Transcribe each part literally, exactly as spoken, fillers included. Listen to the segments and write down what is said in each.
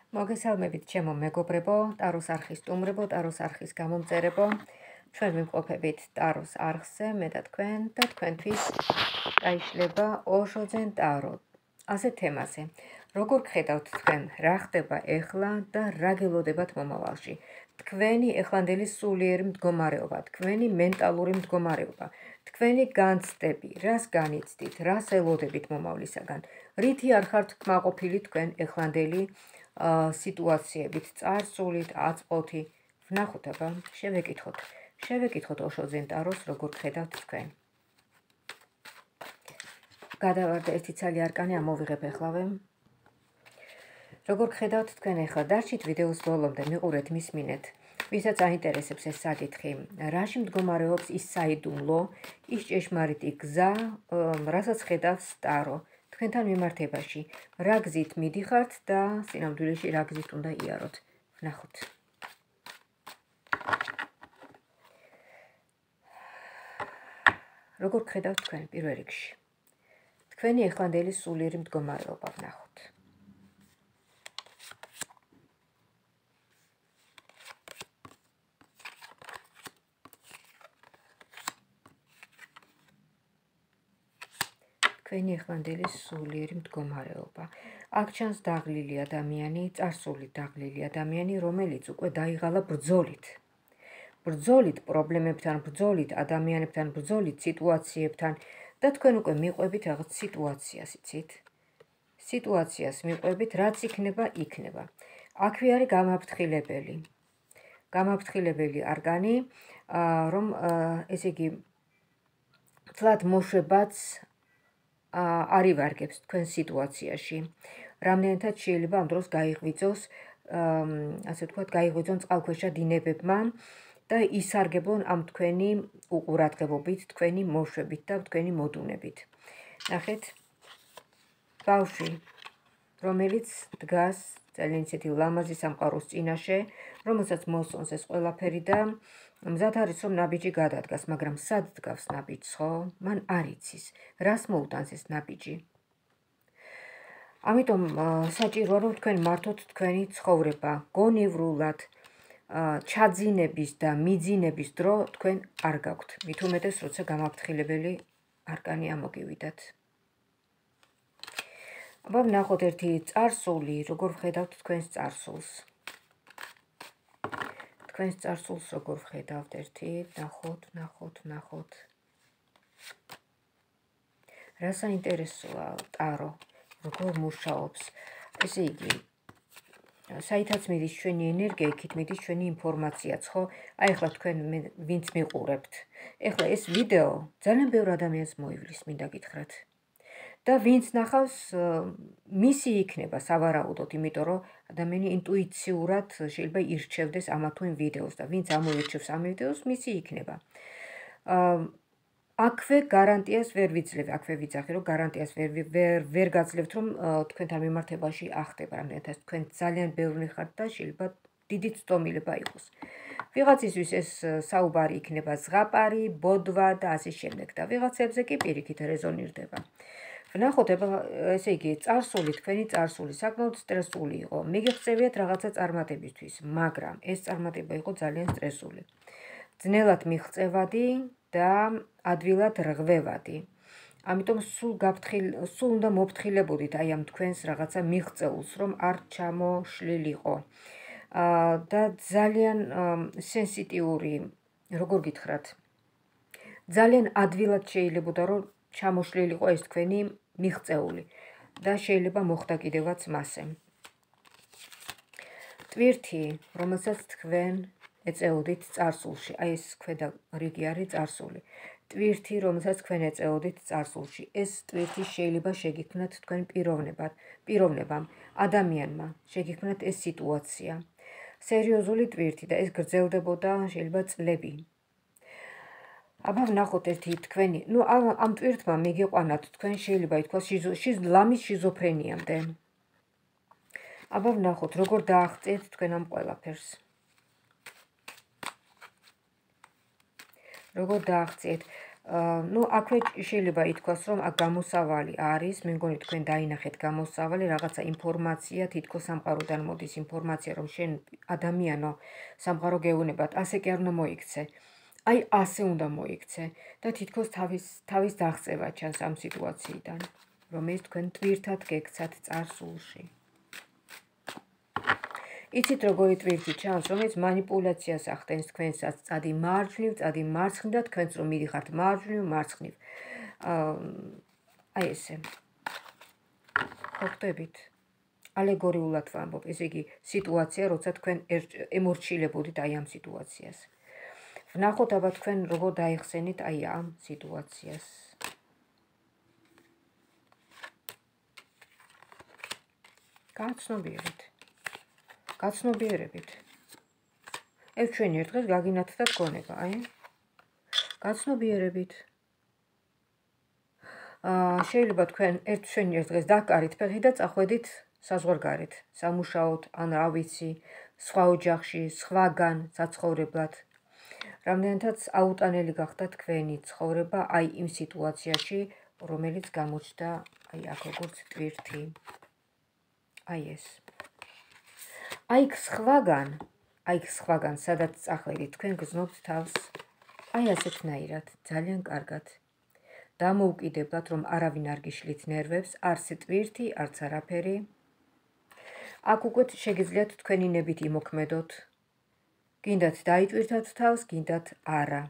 მოგესალმებით ჩემო მეგობრებო, ტაროს არხის სტუმრებო, ტაროს არხის გამომწერებო. ჩვენ ვიმყოფებით ტაროს არხზე, მე და თქვენ და თქვენთვის გაიშლება ოშოძენ ტარო. ასე თემაზე. როგორ გხედავთ თქვენ, რა ხდება ეხლა და რა გელოდებათ მომავალში? თქვენი ეხლანდელი სულიერი მდგომარეობა, თქვენი მენტალური მდგომარეობა, თქვენი განცდები, რას განიცდით, რას ელოდებით მომავლისაგან? რითი არ ხართ კმაყოფილი თქვენ ეხლანდელი სიტუაციებით, წარსულით, აწყვოთი, ვნახოთ აბა, შევეკითხოთ. შევეკითხოთ ოშოძენ ტაროს, როგორ გხედავთ თქვენ. გადავარდა ერთი ცალი არკანი, ამოვიღებ ეხლავე. როგორ გხედავთ თქვენ ეხლა, დარჩით ვიდეოს ბოლომდე, მიყურეთ, მისმინეთ. ვისაც აინტერესებს ეს საკითხი, რაში მდგომარეობს ის საიდუმლო, ის ჭეშმარიტი გზა, რასაც ხედავს ტარო. თქვენთან მიმართებაში, რა გზით მიდიხართ და სინამდვილეში რა გზით უნდა იაროთ. ვნახოთ. როგორ გხედავთ თქვენ პირველ რიგში? თქვენი ეხლანდელი სულიერი მდგომარეობა ვნახოთ. თქვენი ეხლანდელი სულიერი მდგომარეობა. აქ ჩანს დაღლილი ადამიანი, წარსული დაღლილი ადამიანი, რომელიც უკვე დაიღალა ბრძოლით. ბრძოლით პრობლემებთან, ბრძოლით ადამიანებთან, ბრძოლით სიტუაციებთან და თქვენ უკვე მიყვებით რაღაც სიტუაციას, იცით? სიტუაციას მიყვებით, რაც იქნება, იქნება. აქვე არის გამაფრთხილებელი. გამაფრთხილებელი არკანი, რომ ესე იგი თლად მოშვებაც არ ივარგებს თქვენ სიტუაციაში. რამდენადაც შეიძლება ამ დროს გაიღვიძოს, ასე ვთქვათ, გაიღვიძონ წყალქვეშა დინებებმა და ისარგებლონ ამ თქვენი უყურადღებობით, თქვენი მოშვებით და თქვენი მოდუნებით. ნახეთ, ბავშვი, რომელიც დგას ძალიან ისეთი ლამაზი სამყაროს წინაშე, რომელსაც მოსწონს ეს ყველაფერი და მზად არის რომ ნაბიჯი გადადგას, მაგრამ სად დგავს ნაბიჯს, ხო? მან არ იცის, რას მოუტანს ეს ნაბიჯი. ამიტომ საჭიროა რომ თქვენ მართოთ თქვენი ცხოვრება, გონივრულად, ჩაძინების და მიძინების დრო თქვენ არ გაქვთ. მით უმეტეს, როცა გამაფრთხილებელი არკანი ამოგივიდათ. აბა ვნახოთ ერთი წარსული, როგორ ვხედავთ თქვენს წარსულს. თქვენს წარსულს როგორ ვხედავთ, ერთი, ვნახოთ, ვნახოთ, ვნახოთ. რა საინტერესოა ტარო, როგორ მუშაობს. ესე იგი, საითაც მიდის ჩვენი ენერგია, იქით მიდის ჩვენი ინფორმაციაც, ხო? აი ახლა თქვენ ვინც მიყურებთ. ეხლა ეს ვიდეო ძალიან ბევრ ადამიანს მოივლის, მინდა გითხრათ. და ვინც ნახავს, მისი იქნება სავარაუდოდ, იმიტომ რომ ადამიანი ინტუიციურად შეიძლება ირჩევდეს ამა თუ იმ ვიდეოს და ვინც ამოირჩევს ამ ვიდეოს, მისი იქნება. აქვე გარანტიას ვერ ვიძლევ, აქვე ვიცახი, რომ გარანტიას ვერ ვერ ვერ გაძლევთ, რომ თქვენთან მიმართებაში ახდება, რამდენადაც თქვენ ძალიან ბევრი ხართ და შეიძლება დიდი ცდომილება იყოს. ვიღაცისთვის ეს საუბარი იქნება ზღაპარი, ბოდვა და ასე შემდეგ და ვიღაცებზე კი პირიქით რეზონირდება. ვნახოთ, ესე იგი, წარსული, თქვენი წარსული საკმაოდ სტრესული იყო. მიგეღწევიათ რაღაცა წარმატებისთვის, მაგრამ ეს წარმატება იყო ძალიან სტრესული. ძნელად მიღწევადი და ადვილად რღვევადი. ამიტომ სულ გაფრთხილ, სულ უნდა მოფრთხილებოდით აი ამ თქვენს რაღაცა მიღწეულს, რომ არ ჩამოშლილიყო. და ძალიან სენსიტიური, როგორ გითხრათ, ძალიან ადვილად შეიძლებოდა რომ ჩამოშლილიყო ეს თქვენი მიღწეული და შეიძლება მოხდა კიდევაც მასე. ტვირთი, რომელსაც თქვენ ეწეოდით წარსულში, აი ეს ქვედა რიგი არის წარსული. ტვირთი, რომელსაც თქვენ ეწეოდით წარსულში. ეს ტვირთი შეიძლება შეგიქმნათ თქვენ პიროვნებად, პიროვნებამ, ადამიანმა, შეგიქმნათ ეს სიტუაცია. სერიოზული ტვირთი და ეს გრძელდებოდა შეიძლება წლები. აბა ვნახოთ ერთი თქვენი, ნუ ამ ტვირთმა მიგიყვანათ თქვენ შეიძლება ითქვას ლამის შიზოფრენიამდე. აბა ვნახოთ, როგორ დააღწიეთ თქვენ ამ ყველაფერს. როგორ დააღწიეთ. ნუ აქვე შეიძლება ითქვას, რომ აქ გამოსავალი არის, მე მგონი თქვენ დაინახეთ გამოსავალი, რაღაცა ინფორმაცია, თითქოს სამყაროდან მოდის ინფორმაცია, რომ შენ ადამიანო სამყარო გეუნებათ, ასე კი არ უნდა მოიქცე. აი ასე უნდა მოიქცე და თითქოს თავის თავის დაღწევა ჩანს ამ სიტუაციიდან, რომელიც თქვენ ტვირთად გექცათ წარსულში. იცით როგორი ტვირთი ჩანს, რომელიც მანიპულაციას ახდენს თქვენსაც, წადი მარჯვნივ, წადი მარცხნივ და თქვენც რომ მიდიხართ მარჯვნივ, მარცხნივ. აი ესე. ხო ხდებით? ალეგორიულად ვამბობ, ესე იგი სიტუაცია, როცა თქვენ ემორჩილებოდით აი ამ სიტუაციას. ვნახოთ აბა თქვენ როგორ დაიხსენით აი ამ სიტუაციას. გაცნობიერებით. გაცნობიერებით. ერთ ჩვენი ერთ დღეს გაგინათდა გონება, აი. გაცნობიერებით. აა შეიძლება თქვენ ერთ ჩვენი ერთ დღეს დაკარით ფეხი და წახვედით საზღვარგარეთ, სამუშაოდ, ან რა ვიცი, სხვა ოჯახში, სხვაგან საცხოვრებლად. რამდენადაც აუტანელი გახდა თქვენი ცხოვრება აი იმ სიტუაციაში, რომელიც გამოჩნდა აი აქ როგორც ტვირთი. აი ეს. აი სხვაგან, აი სხვაგან, სადაც წახვედით, თქვენ გრძნობთ თავს, აი ასეთნაირად, ძალიან კარგად. დამოუკიდებლად, რომ არავინ არ გიშლით ნერვებს, არც ტვირთი, არც არაფერი. აქ უკვე შეგიძლიათ თქვენი ნებით იმოქმედოთ. გინდათ დაიტვირთათ თავს, გინდათ არა.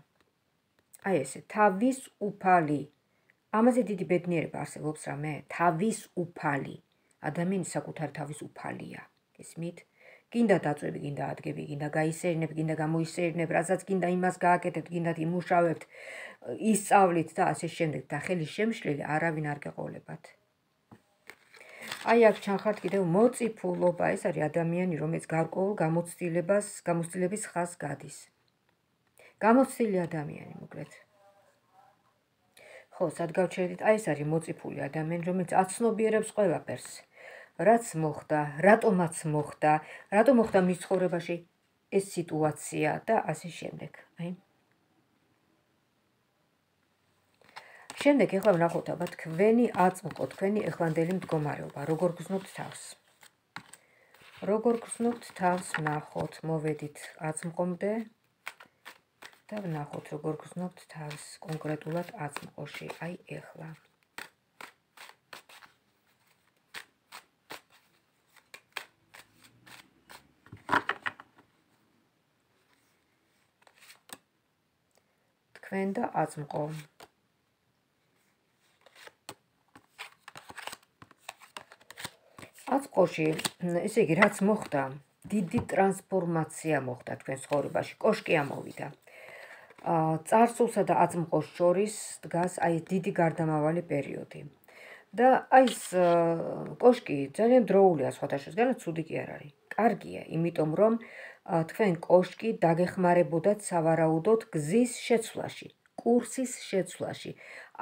აი ესე, თავის უფალი. ამაზე დიდი ბედნიერება არსებობს რამე? თავის უფალი. ადამიანის საკუთარი თავის უფალია. გესმით? გინდა დაწვევი, გინდა ადგები, გინდა გაისერნებ, გინდა გამოისერნებ, რასაც გინდა იმას გააკეთებთ, გინდათ იმუშავებთ, ისწავლით და ასე შემდეგ და ხელის შემშლელი არავინ არ გეყოლებათ. აი აქ ჩანხართ კიდევ მოწიფულობა, ეს არის ადამიანი, რომელიც გარკვეულ გამოცდილებას, გამოცდილების ხაზს გადის. გამოცდილი ადამიანი, მოკლედ. ხო, სად გავჩერდით? აი ეს არის მოწიფული ადამიანი, რომელიც აცნობიერებს ყველაფერს. რაც მოხდა, რატომაც მოხდა, რატომ მოხდა მის ცხოვრებაში ეს სიტუაცია და ასე შემდეგ. აი. შემდეგ ეხლა ვნახოთ აბა თქვენი აწმყო, თქვენი ეხლანდელი მდგომარეობა, როგორ გრძნობთ თავს. როგორ გრძნობთ თავს, ვნახოთ, მოვედით აწმყომდე და ვნახოთ, როგორ გრძნობთ თავს კონკრეტულად აწმყოში, აი ეხლა. თქვენ და აწმყო. აწმყოში, ესე იგი, რაც მოხდა, დიდი ტრანსფორმაცია მოხდა თქვენ ცხოვრებაში, კოშკი ამოვიდა. წარსულსა და აწმყოს შორის დგას აი დიდი გარდამავალი პერიოდი. და აი ეს კოშკი ძალიან დროულია სხვადასხვაგვარად, ცუდი კი არ არის. კარგია, იმიტომ რომ თქვენ კოშკი დაგეხმარებოდათ სავარაუდოდ გზის შეცვლაში, კურსის შეცვლაში.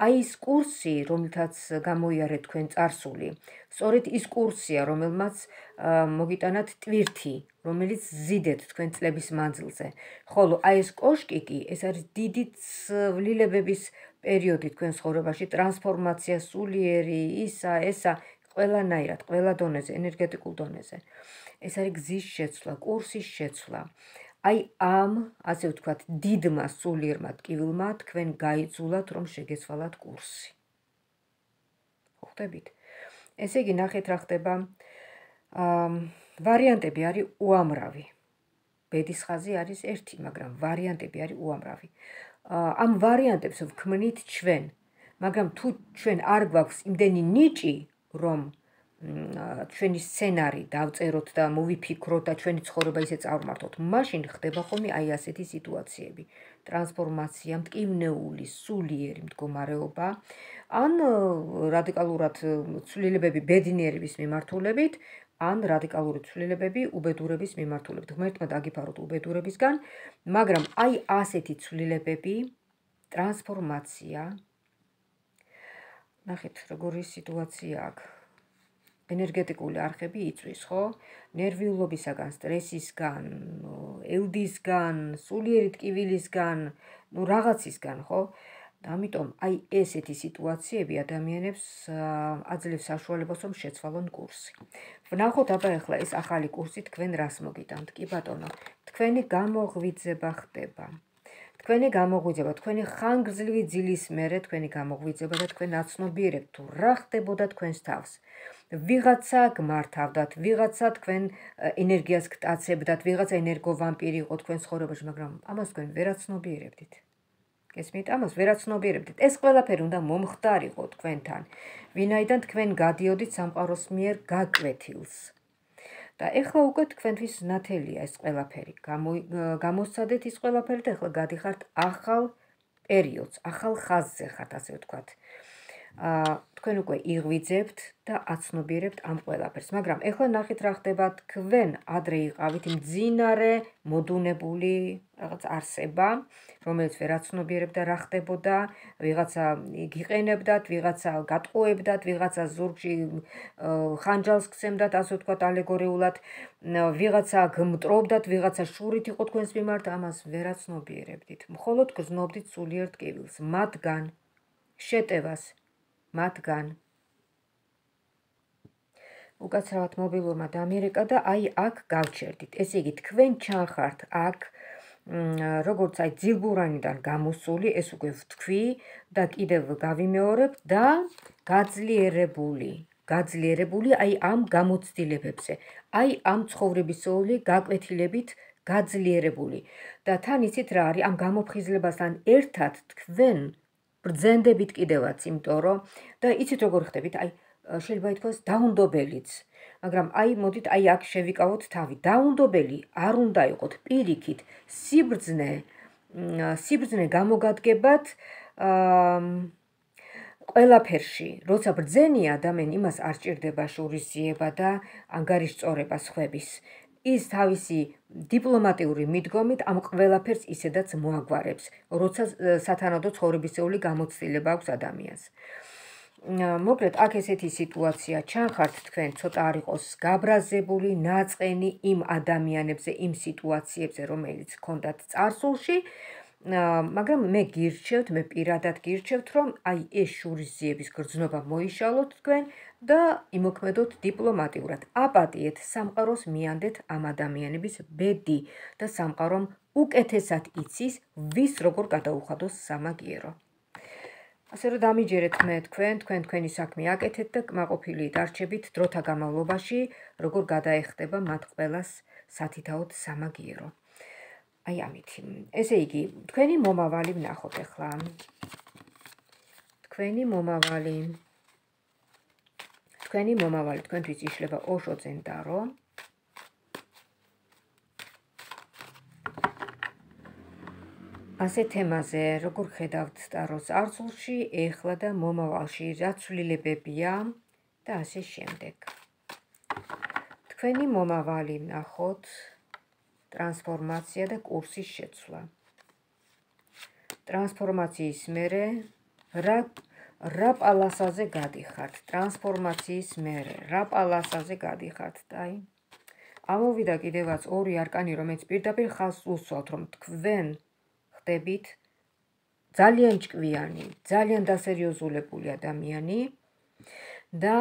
აი ეს კურსი, რომელთაც გამოიარეთ თქვენ წარსული, სწორედ ის კურსია, რომელმაც მოგიტანათ ტვირთი, რომელიც ზიდეთ თქვენ წლების მანძილზე. ხოლო აი ეს კოშკი კი, ეს არის დიდი ცვლილებების პერიოდი თქვენ ცხოვრებაში, ტრანსფორმაცია სულიერი, ისა, ესა, ყველანაირად, ყველა დონეზე, ენერგეტიკულ დონეზე. ეს არის გზის შეცვლა, კურსის შეცვლა. აი ამ, ასე ვთქვათ, დიდმა სულიერმა ტკივილმა თქვენ გაიძულათ, რომ შეგეცვალათ კურსი. ხვდებით? ესე იგი, ნახეთ რა ხდება. ვარიანტები არის უამრავი. ბედის ხაზი არის ერთი, მაგრამ ვარიანტები არის უამრავი. ამ ვარიანტებს ვქმნით ჩვენ, მაგრამ თუ ჩვენ არ გვაქვს იმდენი ნიჭი, რომ ჩვენი სცენარი დავწეროთ და მოვიფიქროთ და ჩვენი ცხოვრება ისე წარმართოთ, მაშინ ხდება ხოლმე აი ასეთი სიტუაციები. ტრანსფორმაცია, მტკივნეული, სულიერი მდგომარეობა, ან რადიკალურად ცვლილებები ბედნიერების მიმართულებით, ან რადიკალური ცვლილებები უბედურების მიმართულებით. ღმერთმა დაგიფაროთ უბედურებისგან, მაგრამ აი ასეთი ცვლილებები, ტრანსფორმაცია, ნახეთ, როგორი სიტუაცია აქვს. ენერგეტიკული არხები იწვის, ხო? ნერვიულობისაგან, სტრესისგან, ელდისგან, სულიერი ტკივილისგან, ნუ რაღაცისგან, ხო? ამიტომ აი ესეთი სიტუაციები ადამიანებს აძლევს საშუალებას რომ შეცვალონ კურსი. ვნახოთ აბა ახლა ეს ახალი კურსი თქვენ რას მოგიტანთ? კი ბატონო, თქვენი გამოღვიძება ხდება. თქვენი გამოღვიძება, თქვენი ხანგრძლივი ძილის მერე თქვენი გამოღვიძება და თქვენ აცნობიერებთ თუ რა ხდებოდა თქვენს თავს. ვიღაცა გმართავდათ, ვიღაცა თქვენ ენერგიას გტაცებდათ, ვიღაცა ენერგოვამპირი იყო თქვენ ცხოვრებაში, მაგრამ ამას თქვენ ვერ აცნობიერებდით. გესმით? ამას ვერ აცნობიერებდით. ეს ყველაფერი უნდა მომხდარიყო თქვენთან, ვინაიდან თქვენ გადიოდით სამყაროს მიერ გაკვეთილს. და ეხლა უკვე თქვენთვის ნათელია ეს ყველაფერი. გამოსცადეთ ის ყველაფერი და ეხლა გადიხართ ახალ პერიოდს, ახალ ხაზზე ხართ, ასე ვთქვათ. თქვენ უკვე იღვიძებთ და აცნობიერებთ ამ ყველაფერს, მაგრამ ეხლა ნახეთ რა ხდება. თქვენ ადრე იყავით მძინარე მოდუნებული რაღაც არსება, რომელიც ვერ აცნობიერებდა რა ხდებოდა, ვიღაცა გიყენებდათ, ვიღაცა გატყუებდათ, ვიღაცა ზურგში ხანჯალს გცემდათ, ასე ვთქვათ ალეგორიულად, ვიღაცა გმტრობდათ, ვიღაცა შურით იყო თქვენს მიმართ, ამას ვერ აცნობიერებდით. მხოლოდ გრძნობდით სულიერ ტკივილს, მათგან შეტევას, მათგან უკაცრავად მობილურმა დამირეკა და აი აქ გავჩერდით. ესე იგი თქვენ ჩანხართ აქ როგორც აი ძილბურანიდან გამოსული, ეს უკვე ვთქვი და კიდევ გავიმეორებ და გაძლიერებული. გაძლიერებული აი ამ გამოცდილებებზე, აი ამ ცხოვრებისეული გაკვეთილებით გაძლიერებული. და თან იცით რა არის, ამ გამოფხიზლებასთან ერთად თქვენ ბრძენდებით კიდევაც, იმიტომ რომ და იცით როგორ ხდებით, აი შეიძლება ითქვას დაუნდობელიც, მაგრამ აი მოდით აი აქ შევიკავოთ თავი. დაუნდობელი არ უნდა იყოთ, პირიქით, სიბრძნე, სიბრძნე გამოგადგებათ ყველაფერში. როცა ბრძენია ადამიანი, იმას არ სჭირდება შურისძიება და ანგარიშწორება სხვების. ის თავისი დიპლომატიური მიდგომით ამ ყველაფერს ისედაც მოაგვარებს, როცა სათანადო ცხოვრებისეული გამოცდილება აქვს ადამიანს. მოკლედ, აქ ესეთი სიტუაცია ჩანხართ თქვენ, ცოტა არ იყოს გაბრაზებული, ნაწყენი იმ ადამიანებზე, იმ სიტუაციებზე, რომელიც გქონდათ წარსულში, მაგრამ მე გირჩევთ, მე პირადად გირჩევთ, რომ აი ეს შურისძიების გრძნობა მოიშალოთ თქვენ და იმოქმედოთ დიპლომატიურად. აპატიეთ, სამყაროს მიანდეთ ამ ადამიანების ბედი და სამყარომ უკეთესად იცის, ვის როგორ გადაუხადოს სამაგიერო. ასე რომ დამიჯერეთ მე თქვენ, თქვენ თქვენი საქმე აკეთეთ და კმაყოფილი დარჩებით დროთა განმავლობაში, როგორ გადაეხდება მათ ყველას სათითაოდ სამაგიერო. აი ამითი. ესე იგი, თქვენი მომავალი ვნახოთ ახლა. თქვენი მომავალი. თქვენი მომავალი თქვენთვის იშლება ოშო წენდარო. ასე თემაზე, როგორ ხედავთ ტაროს წარსულში, ეხლა და მომავალში, რა ცვლილებებია და ასე შემდეგ. თქვენი მომავალი ვნახოთ, ტრანსფორმაცია და კურსის შეცვლა. ტრანსფორმაციის მერე რა რა პალასაზე გადიხართ? ტრანსფორმაციის მერე რა პალასაზე გადიხართ? აი, ამოვიდა კიდევაც ორი არკანი, რომელიც პირდაპირ ხაზს უსვამთ, რომ თქვენ ხდებით ძალიან ჭკვიანი, ძალიან დასერიოზულებული ადამიანი და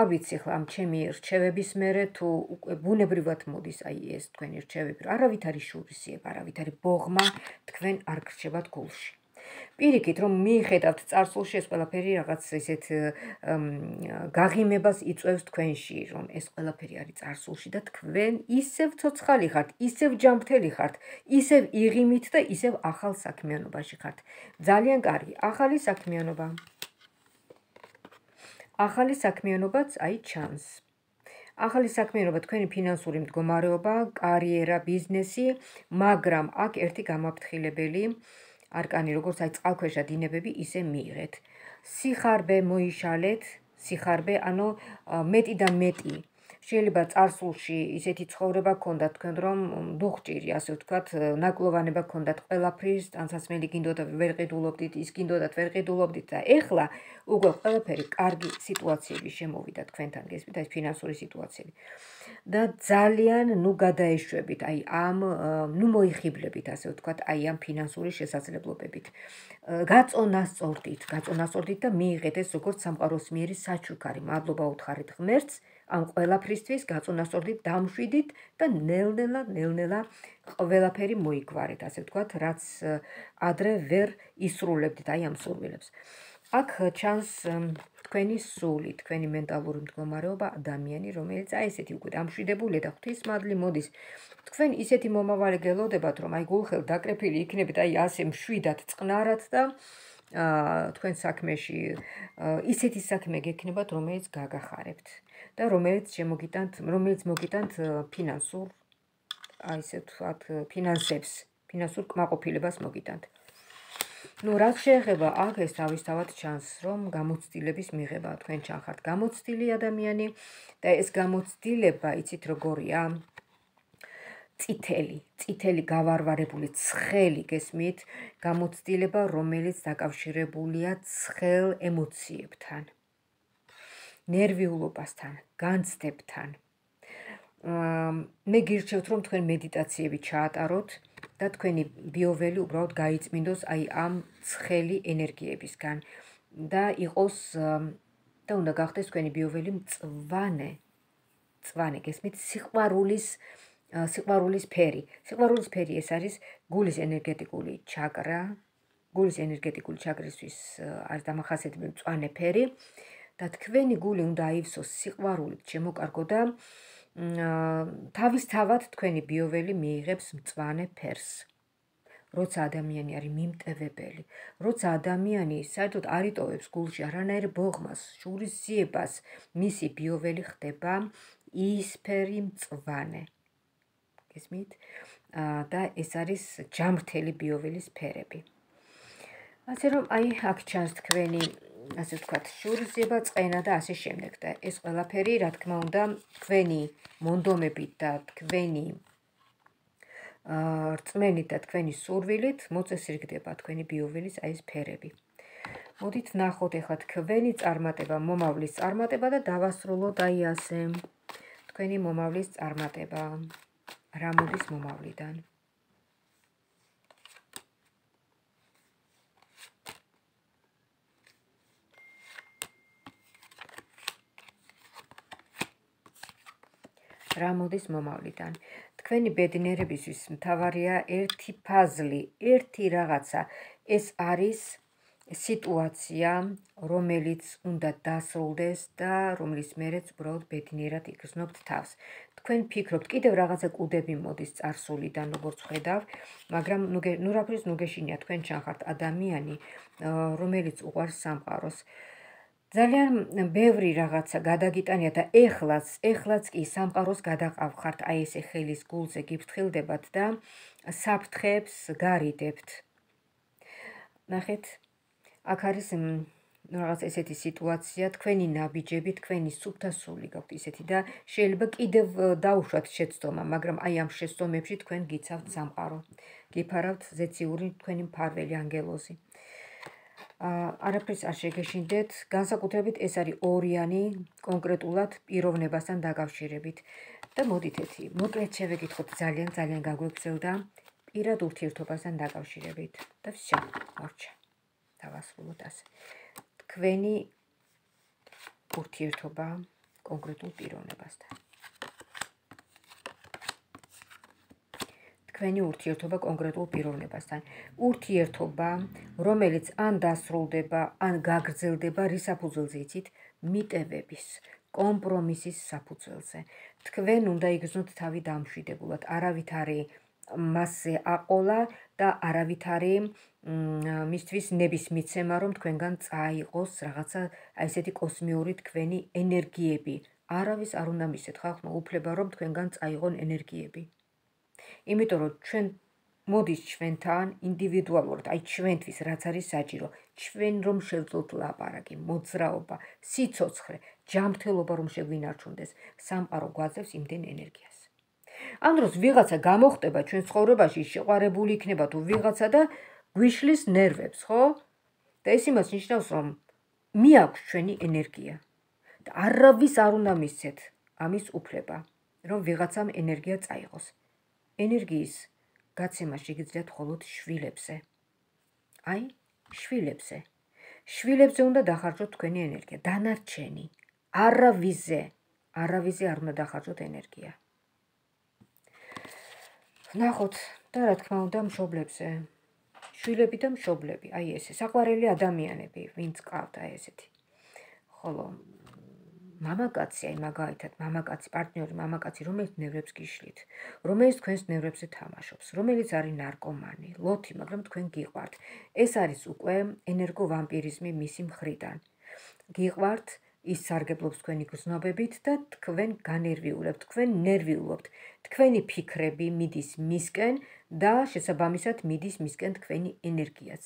არ ვიცი ხლა ამ ჩემი რჩევების მერე თუ უკვე ბუნებრივად მოდის აი ეს თქვენი რჩევები, არავით არის შურისძიება, არავით არის ბოღმა, თქვენ არ გრჩებათ გულში. პირიქით, რომ მიიხედავთ წარსულში ეს ყველაფერი რაღაც ისეთ გაღიმებას იწვევს თქვენში, რომ ეს ყველაფერი არის წარსულში და თქვენ ისევ ცოცხალი ხართ, ისევ ჯანმრთელი ხართ, ისევ იღიმით და ისევ ახალ საქმიანობაში ხართ. ძალიან კარგი, ახალი საქმიანობა. ახალი საქმიანობაც აი ჩანს. ახალი საქმიანობა თქვენი ფინანსური მდგომარეობა, კარიერა, ბიზნესი, მაგრამ აქ ერთი გამაფრთხილებელი არკანი, როგორც აი წყალქვეშა დინებები, ისე მიიღეთ. სიხარბე მოიშალეთ, სიხარბე, ანუ მეტი და მეტი შეიძლება წარსულში ისეთი ცხოვრება გქონდათ თქვენ, რომ დუხჭირი, ასე ვთქვათ, ნაკლოვანება გქონდათ ყველაფრის, ტანსაცმელი გინდოდათ, ვერ ყიდულობდით, ის გინდოდათ, ვერ ყიდულობდით და ეხლა უკვე ყველაფერი კარგი სიტუაციები შემოვიდა თქვენთან, გესმით, აი ფინანსური სიტუაციები. და ძალიან ნუ გადაეშვებით, აი ამ ნუ მოიხიბლებით, ასე ვთქვათ, აი ამ ფინანსური შესაძლებლობებით. გაწონასწორდით, გაწონასწორდით და მიიღეთ ეს როგორც სამყაროს მიერი საჩუქარი. მადლობა უთხარით ღმერთს ამ ყველაფრისთვის, გაწონასწორდით, დამშვიდით და ნელ-ნელა, ნელ-ნელა ყველაფერი მოიგვარეთ, ასე ვთქვათ, რაც ადრე ვერ ისრულებდით აი ამ სურვილებს. აქ ჩანს თქვენი სული, თქვენი მენტალური მდგომარეობა, ადამიანი, რომელიც აი ესეთი უკვე დამშვიდებულია და ღვთისმადლი მოდის. თქვენ ისეთი მომავალი გელოდებათ, რომ აი გულხელ დაკრეფილი იქნებით, აი ასე მშვიდად, წყნარად და თქვენ საქმეში ისეთი საქმე გექნებათ, რომელიც გაგახარებთ და რომელიც შემოგიტანთ, რომელიც მოგიტანთ ფინანსურ, აი ესე ვთქვათ, ფინანსებს, ფინანსურ კმაყოფილებას მოგიტანთ. ნუ რაც შეეხება აქ ეს თავისთავად ჩანს, რომ გამოცდილების მიღება თქვენ ჩანხართ გამოცდილი ადამიანი და ეს გამოცდილება, იცით როგორია? წითელი, წითელი გავარვარებული ცხელი, გესმით, გამოცდილება, რომელიც დაკავშირებულია ცხელ ემოციებთან, ნერვიულობასთან, განცდებთან. მე გირჩევთ, რომ თქვენ მედიტაციები ჩაატაროთ და თქვენი ბიოველი უბრალოდ გაიწმინდოს აი ამ ცხელი ენერგიებისგან და იყოს და უნდა გახდეს თქვენი ბიოველი მწვანე, მწვანე, გესმით, სიყვარულის სიყვარულის ფერი. სიყვარულის ფერი ეს არის გულის ენერგეტიკული ჩაკრა, გულის ენერგეტიკული ჩაკრისთვის არის დამახასიათებელი მწვანე ფერი და თქვენი გული უნდა აივსოს სიყვარულით, შემოკარგო და თავისთავად თქვენი ბიოველი მიიღებს მწვანე ფერს. როცა ადამიანი არის მიმტევებელი, როცა ადამიანი საერთოდ არ იტოვებს გულში არანაირ ბოღმას, შურისძიებას, მისი ბიოველი ხდება იისფერი მწვანე. გესმით? და ეს არის ჯამრთელი ბიოველის ფერები. ასე რომ აი აქ ჩანს თქვენი, ასე ვთქვათ, შურისძიება, წყენა და ასე შემდეგ და ეს ყველაფერი, რა თქმა უნდა, თქვენი მონდომებით და თქვენი რწმენით და თქვენი სურვილით მოწესრიგდება თქვენი ბიოველის აი ეს ფერები. მოდით ნახოთ ეხლა თქვენი წარმატება, მომავლის წარმატება და დავასრულოთ აი ასე თქვენი მომავლის წარმატება. რა მოდის მომავლიდან? რა მოდის მომავლიდან? თქვენი ბედნიერებისთვის მთავარია ერთი ფაზლი, ერთი რაღაცა. ეს არის სიტუაცია, რომელიც უნდა დასრულდეს და რომელიც მერეც უბრალოდ ბედნიერად იგრძნობთ თავს. თქვენ ფიქრობთ, კიდევ რაღაცა კუდები მოდის წარსულიდან, როგორც ხედავ, მაგრამ ნუ რაფრის ნუ გეშინია, თქვენ ჩანხართ ადამიანი, რომელიც უყვარს სამყაროს. ძალიან ბევრი რაღაცა გადაგიტანია და ეხლაც, ეხლაც კი სამყაროს გადაყავხართ, აი ესე ხელის გულზე გიფრთხილდებათ და საფრთხეებს გარიდებთ. ნახეთ, აქ არის რაღაც ესეთი სიტუაცია, თქვენი ნაბიჯები, თქვენი სუფთა სული გაქვთ ისეთი და შეიძლება კიდევ დაუშვათ შეცდომა, მაგრამ აი ამ შეცდომებში თქვენ გიცავთ სამყარო. გიფარავთ ზეციური თქვენი მფარველი ანგელოზი. არაფერს არ შეგეშინდეთ, განსაკუთრებით ეს არის ორიანი კონკრეტულად პიროვნებასთან დაკავშირებით. და მოდით ერთი, მოკლედ შევეკითხოთ, ძალიან ძალიან გაგვეგზელდა პირად ურთიერთობასთან დაკავშირებით. და всё, მორჩა. დავასრულოთ ასე. თქვენი ურთიერთობა კონკრეტულ პიროვნებასთან. თქვენი ურთიერთობა კონკრეტულ პიროვნებასთან. ურთიერთობა, რომელიც ან დასრულდება, ან გაგრძელდება რის საფუძველზე იცით? მიტევების, კომპრომისის საფუძველზე. თქვენ უნდა იგრძნოთ თავი დამშვიდებულად, არავითარი მასზე აყოლა და არავითარი მისთვის ნების მიცემა, რომ თქვენგან წაიღოს რაღაცა აი ესეთი კოსმიური თქვენი ენერგიები. არავის არ უნდა მისცეთ ხალხმა უფლება, რომ თქვენგან წაიღონ ენერგიები. იმიტომ რომ ჩვენ მოდის ჩვენთან ინდივიდუალურად, აი ჩვენთვის რაც არის საჭირო, ჩვენ რომ შევძლოთ ლაპარაკი, მოძრაობა, სიცოცხლე, ჯანმრთელობა რომ შეგვინარჩუნდეს, სამყარო გვაძლევს იმდენ ენერგიას. ამ დროს ვიღაცა გამოხდება ჩვენ ცხოვრებაში, შეყვარებული იქნება თუ ვიღაცა და გვიშლის ნერვებს, ხო? და ეს იმას ნიშნავს, რომ მიაქვს ჩვენი ენერგია. და არავის არ უნდა მისცეთ ამის უფლება, რომ ვიღაცამ ენერგია წაიღოს. ენერგიის გაცემა შეგიძლიათ მხოლოდ შვილებზე. აი, შვილებზე. შვილებზე უნდა დახარჯოთ თქვენი ენერგია, დანარჩენი. არავიზე, არავიზე არ უნდა დახარჯოთ ენერგია. ნახოთ და რა თქმა უნდა მშობლებზე. შვილები და მშობლები, აი ესე, საყვარელი ადამიანები, ვინც ყავთ აი ესეთი. ხოლო მამაკაცი, აი მაგალითად, მამაკაცი, პარტნიორი მამაკაცი, რომელიც ნერვებს გიშლით, რომელიც თქვენს ნერვებზე თამაშობს, რომელიც არის ნარკომანი, ლოთი, მაგრამ თქვენ გიყვართ. ეს არის უკვე ენერგოვამპირიზმი მისი მხრიდან. გიყვართ, ის სარგებლობს თქვენი გრძნობებით და თქვენ განერვიულებთ, თქვენ ნერვიულობთ. თქვენი ფიქრები მიდის მისკენ და შესაბამისად მიდის მისკენ თქვენი ენერგიაც.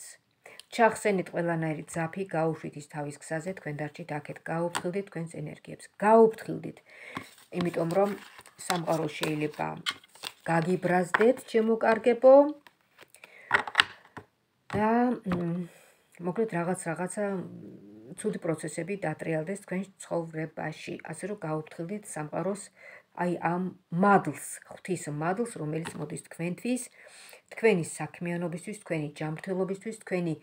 ჩახსენით ყველანაირი ძაფი, გაუშვით ის თავის გზაზე, თქვენ დარჩით აქეთ, გაუფრთხილდით თქვენს ენერგიებს, გაუფრთხილდით. იმიტომ რომ სამყარო შეიძლება გაგიბრაზდეთ, ჩემო და მოკლედ რაღაც რაღაცა ცუდი პროცესები დატრიალდეს თქვენ ცხოვრებაში, ასე რომ გაუფრთხილდით სამყაროს აი ამ მადლს, ღვთის მადლს, რომელიც მოდის თქვენთვის, თქვენი საქმიანობისთვის, თქვენი ჯანმრთელობისთვის, თქვენი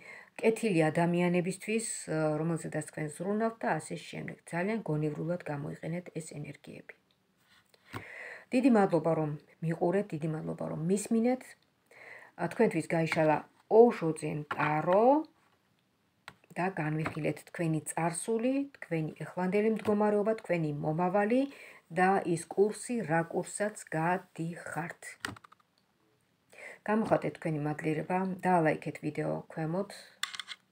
კეთილი ადამიანებისთვის, რომელზედაც თქვენ ზრუნავთ და ასე შემდეგ. ძალიან გონივრულად გამოიყენეთ ეს ენერგიები. დიდი მადლობა რომ მიყურეთ, დიდი მადლობა რომ მისმინეთ. თქვენთვის გაიშალა ოშო ძენ ტარო და განვიხილეთ თქვენი წარსული, თქვენი ეხლანდელი მდგომარეობა, თქვენი მომავალი და ის კურსი, რა კურსაც გადიხართ. გამოხატეთ თქვენი მადლიერება, დაალაიქეთ ვიდეო ქვემოთ,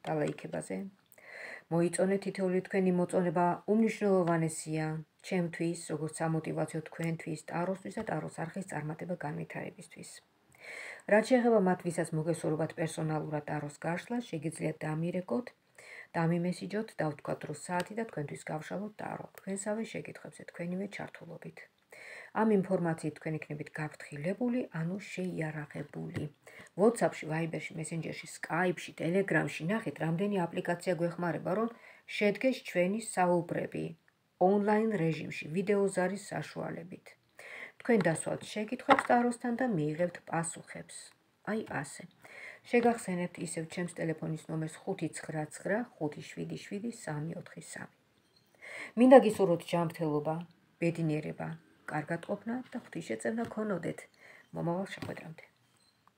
დალაიქებაზე. მოიწონეთ თითოეული თქვენი მოწონება უმნიშვნელოვანესია ჩემთვის, როგორც სამოტივაციო თქვენთვის, ტაროსთვის და ტაროს არხის წარმატება განვითარებისთვის. რაც შეეხება მათ, ვისაც მოგესურვებათ პერსონალურად ტაროს გაშლა, შეგიძლიათ დამირეკოთ, დამიმესიჯოთ, დავთქვათ დრო საათი და თქვენთვის გავშალოთ ტარო. თქვენსავე შეკითხვებზე თქვენივე ჩართულობით. ამ ინფორმაციით თქვენ იქნებით გაფრთხილებული, ანუ შეიარაღებული. WhatsApp-ში, Viber-ში, Messenger-ში, Skype-ში, Telegram-ში ნახეთ, რამდენი აპლიკაცია გვეხმარება, რომ შედგეს ჩვენი საუბრები ონლაინ რეჟიმში, ვიდეოზარის საშუალებით. თქვენ დასვათ შეკითხვებს ტაროსთან და მიიღებთ პასუხებს. აი ასე. შეგახსენებთ ისევ ჩემს ტელეფონის ნომერს ხუთი ცხრა ცხრა ხუთი შვიდი შვიდი სამი ოთხი სამი. მინდა გისურვოთ ჯანმრთელობა, ბედნიერება, კარგად ყოფნა და ღვთისშეწევნა გქონოდეთ. მომავალ შეხვედრამდე.